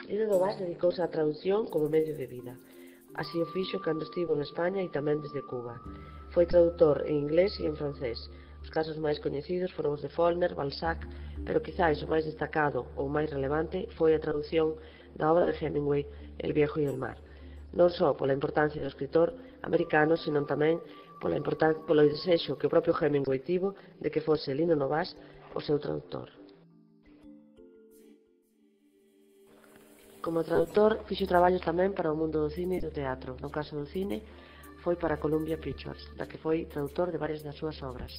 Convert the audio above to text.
Lino Novás dedicouse á traducción como medio de vida. Así o fixo cando estivo en España e tamén desde Cuba. Foi tradutor en inglés e en francés. Os casos máis coñecidos foron os de Faulkner, Balzac, pero quizáis o máis destacado ou máis relevante foi a traducción da obra de Hemingway, El viejo y el mar. Non só pola importancia do escritor americano, senón tamén polo desexo que o propio Hemingway tivo de que fose Lino Novás o seu traductor. Como traductor, fixo traballos tamén para o mundo do cine e do teatro. No caso do cine, foi para Columbia Pictures, da que foi tradutor de varias das súas obras.